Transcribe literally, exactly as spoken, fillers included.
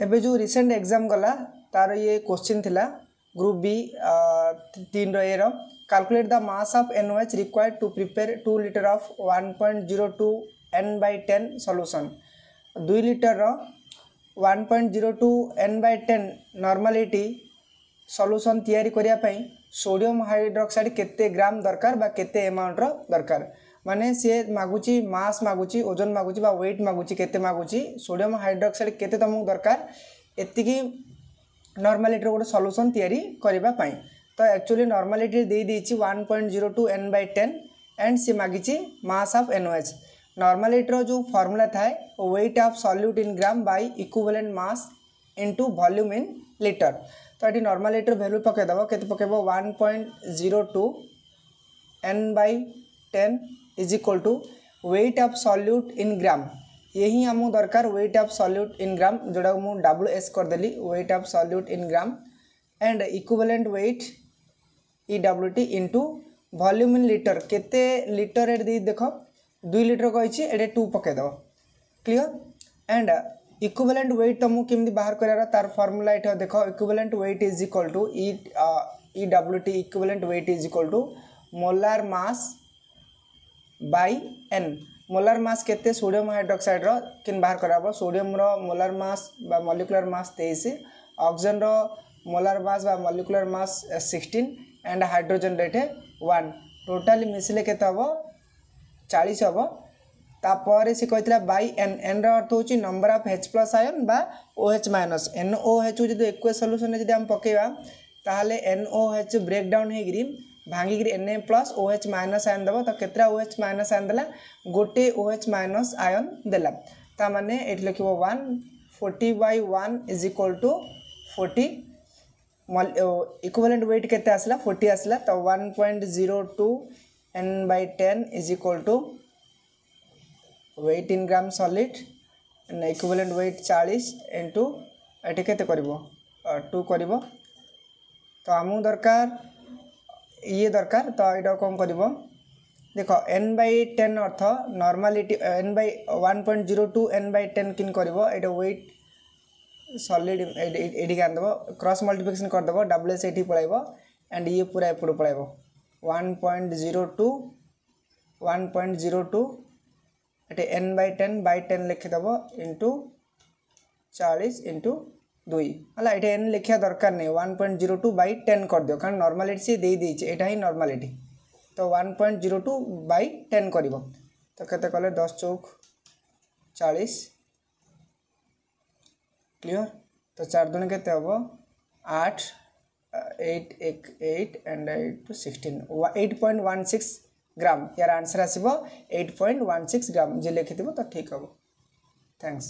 ଏବେ ଯେଉଁ recent exam ଗଲା ତାର ଇଏ କୋଶ୍ଚିନ୍ ଥିଲା ଗ୍ରୁପ୍ ବି ତିନିର ଏର calculate the mass of N O H required to prepare two litre of one point zero two N by ten solution। ଦୁଇ ଲିଟରର one point zero two N by ten normality solution ତିଆରି କରିବା ପାଇଁ sodium hydroxide କେତେ ଗ୍ରାମ ଦରକାର ବା କେତେ ଏମାଉଣ୍ଟର ଦରକାର। ମାନେ ସିଏ ମାଗୁଛି ମାସ୍ ମାଗୁଛି, ଓଜନ ମାଗୁଛି ବା ୱେଟ୍ ମାଗୁଛି। କେତେ ମାଗୁଛି? ସୋଡ଼ିୟମ୍ ହାଇଡ୍ରୋକ୍ସାଇଡ୍ କେତେ ତୁମକୁ ଦରକାର ଏତିକି ନର୍ମାଲିଟିର ଗୋଟେ ସଲ୍ୟୁସନ୍ ତିଆରି କରିବା ପାଇଁ। ତ ଆକ୍ଚୁଆଲି ନର୍ମାଲିଟି ଦେଇଦେଇଛି one point zero two N by ten and ସିଏ ମାଗିଛି mass of N O H. ନର୍ମାଲିଟିର ଯେଉଁ ଫର୍ମୁଲା ଥାଏ, weight of solute in gram by equivalent mass into volume in litre। ତ ଏଠି ନର୍ମାଲିଟିର ଭ୍ୟାଲୁ ପକାଇଦେବ। କେତେ ପକାଇବ? One point zero two N by ten is equal to weight of solute in gram। ଇଏ ହିଁ ଆମକୁ ଦରକାର, weight of solute in gram, ଯେଉଁଟାକୁ ମୁଁ ଡବ୍ଲୁ ଏସ୍ କରିଦେଲି, weight of solute in gram and equivalent weight E W T into volume in litre। କେତେ litre ଏଠି ଦେଇ ଦେଖ, ଦୁଇ ଲିଟର କହିଛି, ଏଠି ଟୁ ପକାଇଦେବ। କ୍ଲିଅର? ଆଣ୍ଡ ଇକ୍ୱିଭାଲେଣ୍ଟ ୱେଟ୍ ତୁମକୁ କେମିତି ବାହାର କରିବାର ତାର ଫର୍ମୁଲା ଏଠି ଦେଖ। Equivalent weight is equal to E E W T, equivalent weight is equal to molar mass by N। Molar mass କେତେ ସୋଡ଼ିୟମ୍ ହାଇଡ୍ରୋକ୍ସାଇଡ୍ର କେମିତି ବାହାର କରାହେବ? ସୋଡ଼ିୟମ୍ର ମୋଲାର ମାସ୍ ବା ମଲିକୁଲାର ମାସ୍ ତେଇଶ, ଅକ୍ସିଜେନ୍ର ମୋଲାର ମାସ୍ ବା molecular mass sixteen and hydrogen ଏଠି ୱାନ୍। ଟୋଟାଲି ମିଶିଲେ କେତେ ହେବ? ଚାଳିଶ ହେବ। ତାପରେ ସେ କହିଥିଲା ବାଇ ଏନ୍। ଏନ୍ର ଅର୍ଥ ହେଉଛି number of H plus ion ବା ଓ H minus. N O H ଯଦି ଏକ୍ୱେସ୍ ସଲ୍ୟୁସନ୍ରେ ଯଦି ଆମେ ପକାଇବା, ତାହେଲେ N O H brake down ହେଇକିରି ଭାଙ୍ଗିକିରି N A plus O H minus ion ଦେବ। ତ କେତେଟା ଓ ଏଚ୍ ମାଇନସ୍ ଆୟନ୍ ଦେଲା? ଗୋଟେ ଓ ଏଚ୍ ମାଇନସ୍ ଆୟନ୍ ଦେଲା। ତା ମାନେ ଏଠି ଲେଖିବ one forty by one is equal to forty। Equivalent weight କେତେ ଆସିଲା? ଫୋର୍ଟି ଆସିଲା। ତ one point zero two N by ten is equal to weight in gram solid and equivalent weight ଚାଳିଶ ଇଣ୍ଟୁ ଏଠି କେତେ କରିବ? ଟୁ କରିବ। ତ ଆମକୁ ଦରକାର ଇଏ ଦରକାର। ତ ଏଇଟା କ'ଣ କରିବ ଦେଖ। ଏନ୍ ବାଇ ଟେନ୍ ଅର୍ଥ normality N by one point zero two N by ten କିନ୍ କରିବ? ଏଇଟା ୱେଟ୍ ସଲିଡ୍ ଏଇଠିକି ଆଣିଦେବ, କ୍ରସ୍ ମଲ୍ଟିପ୍ଲିକେସନ୍ କରିଦେବ। ଡବ୍ଲ୍ୟୁ ଏସ୍ ଏଇଠି ପଳାଇବ ଆଣ୍ଡ ଇଏ ପୁରା ଏପଟକୁ ପଳାଇବ। One point zero two, one point zero two ଏଠି N by ten by ten ଲେଖିଦେବ, into ଚାଳିଶ ଇଣ୍ଟୁ ଦୁଇ ହେଲା। ଏଠି ଏନ୍ ଲେଖିବା ଦରକାର ନାହିଁ। One point zero two by ten କରିଦିଅ, କାରଣ ନର୍ମାଲିଟି ସିଏ ଦେଇଦେଇଛି। ଏଇଟା ହିଁ ନର୍ମାଲିଟି। ତ one point zero two by ten କରିବ। ତ କେତେ କଲେ? ଦଶ ଚଉକ ଚାଳିଶ। କ୍ଲିଅର? ତ ଚାରି ଦୁଣି କେତେ ହେବ? ଆଠ, ଏଇଟ୍ ଏକ eight and eight two sixteen, eight point one six gram। Year answer ଆସିବ eight point one six gram। ଯିଏ ଲେଖିଥିବ ତ ଠିକ୍ ହେବ। Thanks.